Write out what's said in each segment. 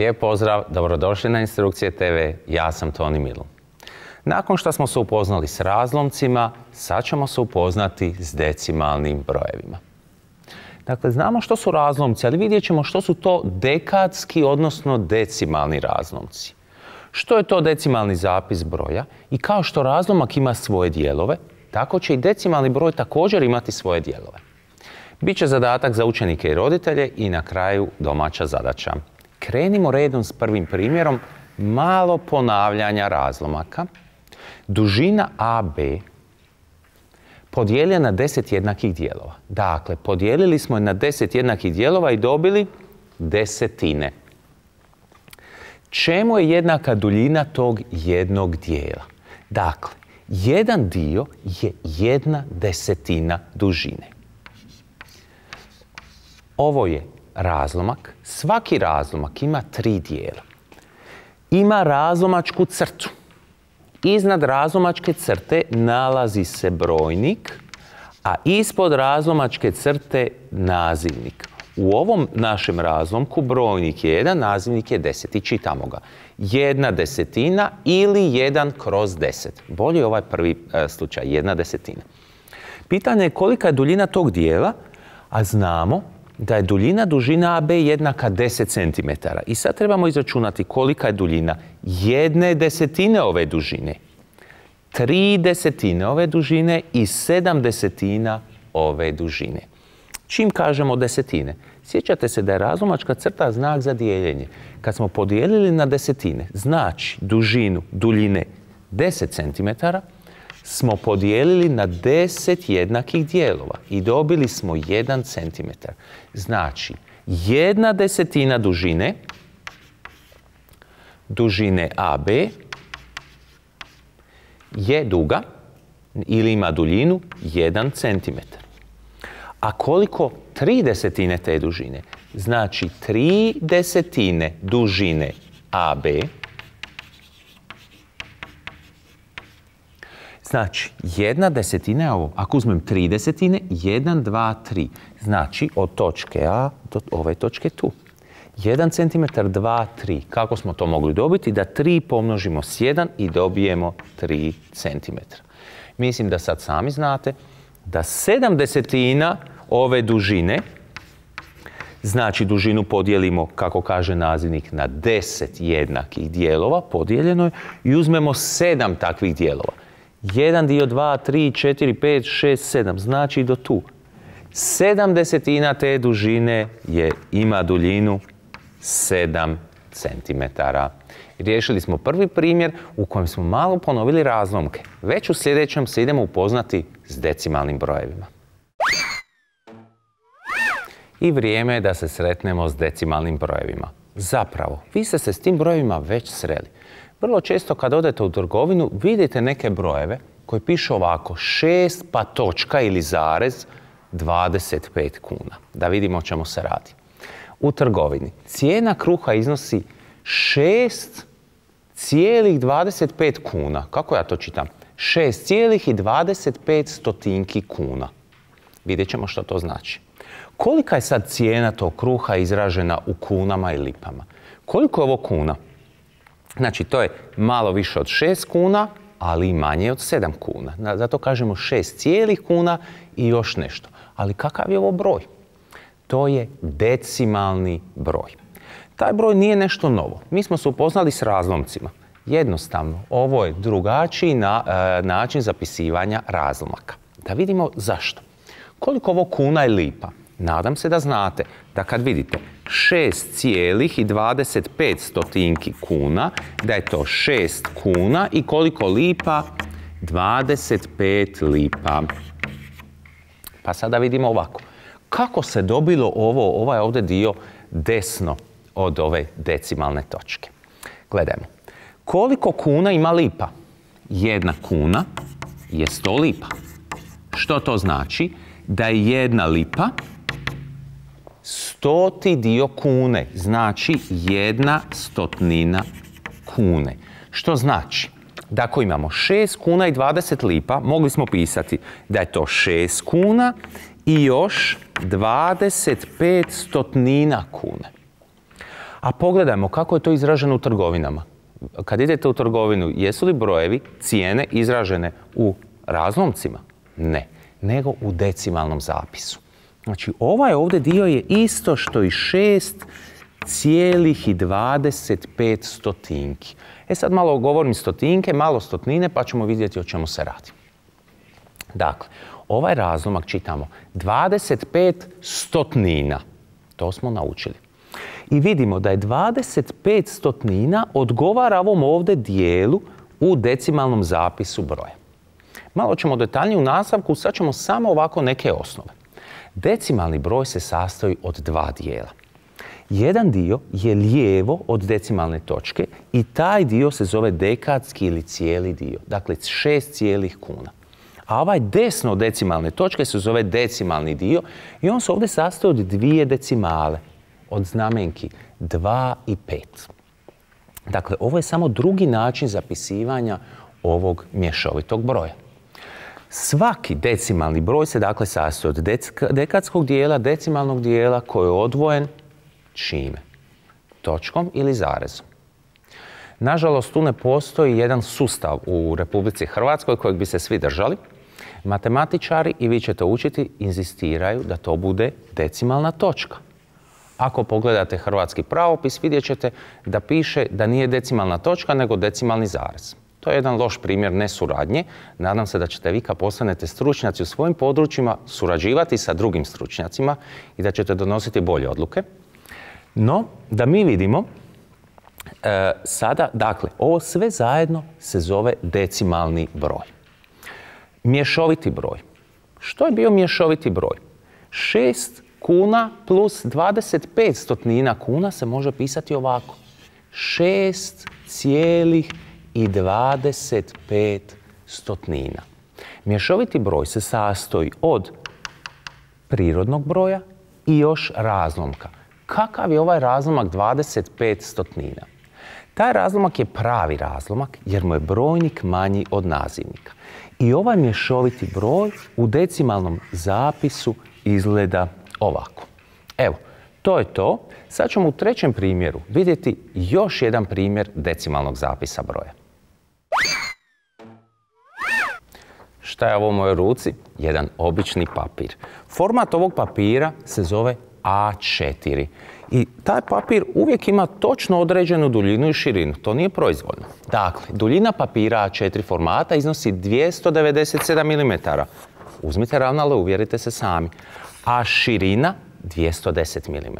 Lijep pozdrav, dobrodošli na Instrukcije TV, ja sam Toni Milun. Nakon što smo se upoznali s razlomcima, sad ćemo se upoznati s decimalnim brojevima. Dakle, znamo što su razlomci, ali vidjet ćemo što su to dekadski, odnosno decimalni razlomci. Što je to decimalni zapis broja i kao što razlomak ima svoje dijelove, tako će i decimalni broj također imati svoje dijelove. Biće zadatak za učenike i roditelje i na kraju domaća zadaća. Krenimo redom s prvim primjerom, malo ponavljanja razlomaka. Dužina AB podijeljena na 10 jednakih dijelova. Dakle, podijelili smo je na 10 jednakih dijelova i dobili desetine. Čemu je jednaka duljina tog jednog dijela? Dakle, jedan dio je 1/10 dužine. Ovo je razlomak. Svaki razlomak ima 3 dijela. Ima razlomačku crtu. Iznad razlomačke crte nalazi se brojnik, a ispod razlomačke crte nazivnik. U ovom našem razlomku brojnik je 1, nazivnik je 10 i čitamo ga. 1/10 ili 1/10. Bolje je ovaj prvi slučaj, 1/10. Pitanje je kolika je duljina tog dijela, a znamo da je duljina dužina AB jednaka 10 cm. I sad trebamo izračunati kolika je duljina 1/10 ove dužine, 3/10 ove dužine i 7/10 ove dužine. Čim kažemo desetine? Sjećate se da je razlomačka crta znak za dijeljenje. Kad smo podijelili na desetine, znači dužinu duljine 10 cm, smo podijelili na 10 jednakih dijelova i dobili smo 1 cm. Znači, 1/10 dužine AB je duga ili ima duljinu 1 cm. A koliko 3/10 te dužine? Znači, 3/10 dužine AB. Znači, 1/10 je ovo. Ako uzmem 3/10, 1, 2, 3. Znači, od točke A do ove točke tu. 1 cm, 2, 3. Kako smo to mogli dobiti? Da 3 pomnožimo s 1 i dobijemo 3 cm. Mislim da sad sami znate da 7/10 ove dužine, znači dužinu podijelimo, kako kaže nazivnik, na 10 jednakih dijelova, podijeljeno je, i uzmemo 7 takvih dijelova. 1 dio, 2, 3, 4, 5, 6, 7, znači do tu. 7/10 te dužine ima duljinu 7 cm. Riješili smo prvi primjer u kojem smo malo ponovili razlomke. Već u sljedećem se idemo upoznati s decimalnim brojevima. I vrijeme je da se sretnemo s decimalnim brojevima. Zapravo, vi ste se s tim brojevima već sreli. Vrlo često kad odete u trgovinu vidite neke brojeve koji pišu ovako 6 pa točka ili zarez 25 kuna. Da vidimo o čemu se radi. U trgovini cijena kruha iznosi 6,25 kuna. Kako ja to čitam? 6,25 kuna. Vidjet ćemo što to znači. Kolika je sad cijena tog kruha izražena u kunama i lipama? Koliko je ovo kuna? Znači, to je malo više od 6 kuna, ali i manje od 7 kuna. Zato kažemo 6 cijelih kuna i još nešto. Ali kakav je ovo broj? To je decimalni broj. Taj broj nije nešto novo. Mi smo se upoznali s razlomcima. Jednostavno, ovo je drugačiji način zapisivanja razlomaka. Da vidimo zašto. Koliko ovo kuna i lipa? Nadam se da znate da kad vidite 6,25 kuna, da je to 6 kuna i koliko lipa? 25 lipa. Pa sada vidimo ovako. Kako se dobilo ovaj ovdje dio desno od ove decimalne točke? Gledajmo. Koliko kuna ima lipa? 1 kuna je 100 lipa. Što to znači? Da je 1 lipa 100. dio kune, znači 1/100 kune. Što znači da ako imamo 6 kuna i 20 lipa, mogli smo pisati da je to 6 kuna i još 25 stotnina kune. A pogledajmo kako je to izraženo u trgovinama. Kad idete u trgovinu, jesu li brojevi, cijene izražene u razlomcima? Ne, nego u decimalnom zapisu. Znači, ovaj ovdje dio je isto što i 6,25 stotinki. Sad malo govorim stotinke, malo stotnine, pa ćemo vidjeti o čemu se radi. Dakle, ovaj razlomak čitamo 25 stotnina. To smo naučili. I vidimo da je 25 stotnina odgovara ovom ovdje dijelu u decimalnom zapisu broja. Malo ćemo detaljnije u nastavku, sad ćemo samo ovako neke osnove. Decimalni broj se sastoji od dva dijela. Jedan dio je lijevo od decimalne točke i taj dio se zove dekadski ili cijeli dio. Dakle, 6 cijelih kuna. A ovaj desno od decimalne točke se zove decimalni dio i on se ovdje sastoji od dvije decimale. Od znamenki 2 i 5. Dakle, ovo je samo drugi način zapisivanja ovog mješovitog broja. Svaki decimalni broj se dakle sastoji od dekadskog dijela, decimalnog dijela koji je odvojen čime? Točkom ili zarezom. Nažalost, tu ne postoji jedan sustav u Republici Hrvatskoj kojeg bi se svi držali. Matematičari, i vi ćete učiti, inzistiraju da to bude decimalna točka. Ako pogledate hrvatski pravopis, vidjet ćete da piše da nije decimalna točka, nego decimalni zarez. To je jedan loš primjer nesuradnje. Nadam se da ćete vi kad postanete stručnjaci u svojim područjima surađivati sa drugim stručnjacima i da ćete donositi bolje odluke. No, da mi vidimo sada, dakle, ovo sve zajedno se zove decimalni broj. Mješoviti broj. Što je bio mješoviti broj? 6 kuna plus 25 stotnina kuna se može pisati ovako. 6,25 stotnina. Mješoviti broj se sastoji od prirodnog broja i još razlomka. Kakav je ovaj razlomak 25 stotnina? Taj razlomak je pravi razlomak jer mu je brojnik manji od nazivnika. I ovaj mješoviti broj u decimalnom zapisu izgleda ovako. Evo, to je to. Sad ćemo u trećem primjeru vidjeti još jedan primjer decimalnog zapisa broja. Šta je ovo u mojoj ruci? Jedan obični papir. Format ovog papira se zove A4. I taj papir uvijek ima točno određenu duljinu i širinu. To nije proizvoljno. Dakle, duljina papira A4 formata iznosi 297 mm. Uzmite ravnalo, uvjerite se sami. A širina 210 mm.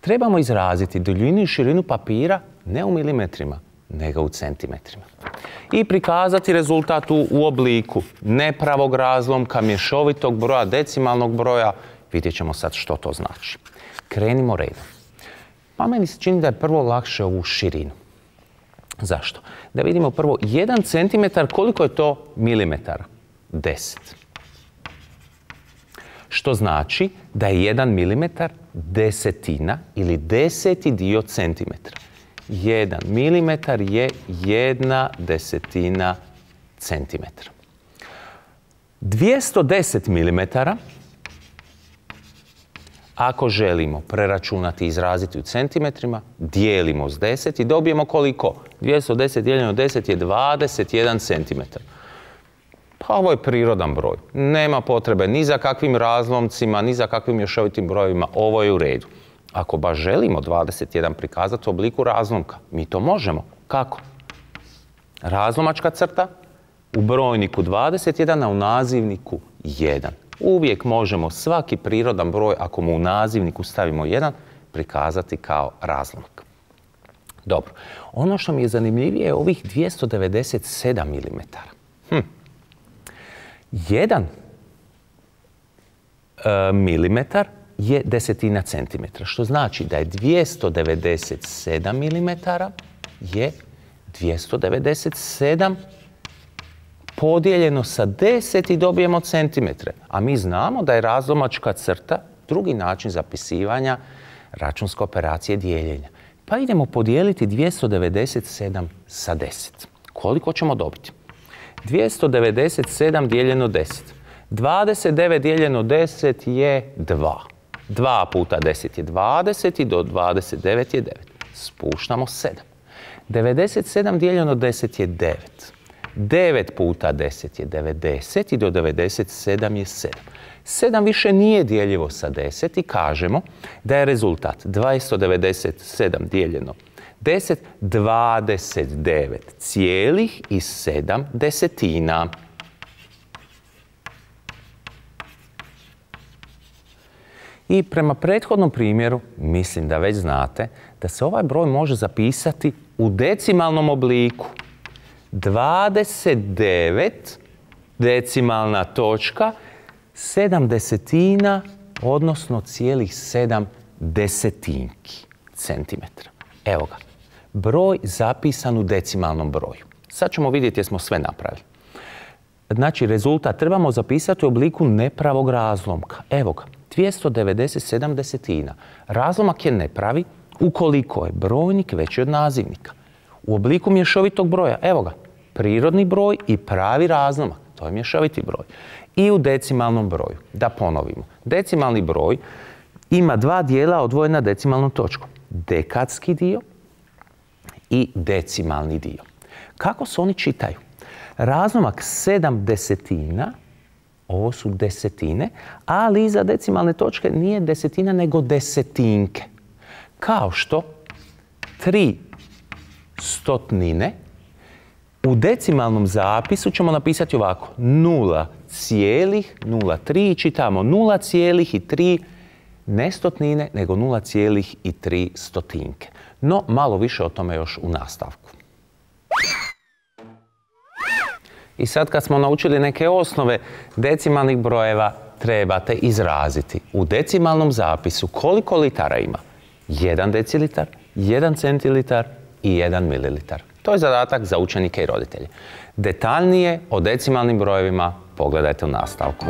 Trebamo izraziti duljinu i širinu papira ne u milimetrima, nego u centimetrima. I prikazati rezultat u obliku nepravog razlomka, mješovitog broja, decimalnog broja. Vidjet ćemo sad što to znači. Krenimo redom. Pa meni se čini da je prvo lakše ovu širinu. Zašto? Da vidimo prvo 1 centimetar, koliko je to milimetara? 10. Što znači da je 1 milimetar desetina ili 10. dio centimetra. 1 milimetar je 1/10 centimetra. 210 milimetara, ako želimo preračunati i izraziti u centimetrima, dijelimo s 10 i dobijemo koliko? 210 dijeljeno 10 je 21 centimetar. Pa ovo je prirodan broj. Nema potrebe ni za kakvim razlomcima, ni za kakvim mješovitim brojevima. Ovo je u redu. Ako baš želimo 21 prikazati u obliku razlomka, mi to možemo. Kako? Razlomačka crta, u brojniku 21, a u nazivniku 1. Uvijek možemo svaki prirodan broj, ako mu u nazivniku stavimo 1, prikazati kao razlomak. Dobro. Ono što mi je zanimljivije je ovih 297 mm. 1 milimetar je desetina centimetra, što znači da je 297 milimetara je 297 podijeljeno sa 10 i dobijemo centimetre. A mi znamo da je razlomačka crta drugi način zapisivanja računske operacije dijeljenja. Pa idemo podijeliti 297 sa 10. Koliko ćemo dobiti? 297 dijeljeno 10. 29 dijeljeno 10 je 2. 2 puta 10 je 20 i do 29 je 9. Spuštamo 7. 97 dijeljeno 10 je 9. 9 puta 10 je 90 i do 97 je 7. 7 više nije dijeljivo sa 10 i kažemo da je rezultat 297 dijeljeno 10, 29,7. I prema prethodnom primjeru, mislim da već znate, da se ovaj broj može zapisati u decimalnom obliku. 29 decimalna točka 7 desetina, odnosno cijelih 7 desetinki centimetra. Evo ga, broj zapisan u decimalnom broju. Sad ćemo vidjeti jesmo sve napravili. Znači, rezultat trebamo zapisati u obliku nepravog razlomka. Evo ga, 297 desetina. Razlomak je nepravi ukoliko je brojnik veći od nazivnika. U obliku mješovitog broja, evo ga, prirodni broj i pravi razlomak. To je mješoviti broj. I u decimalnom broju. Da ponovimo. Decimalni broj ima dva dijela odvojena decimalnom točkom. Dekadski dio i decimalni dio. Kako se oni čitaju? Razlomak 7 desetina, ovo su desetine, ali iza decimalne točke nije desetina nego desetinke. Kao što 3 stotnine u decimalnom zapisu ćemo napisati ovako 0,03 i čitamo 0,3, ne stotnine nego 0,3 stotinke. No, malo više o tome još u nastavku. I sad kad smo naučili neke osnove decimalnih brojeva, trebate izraziti u decimalnom zapisu koliko litara ima. 1 decilitar, 1 centilitar i 1 mililitar. To je zadatak za učenike i roditelje. Detaljnije o decimalnim brojevima pogledajte u nastavku.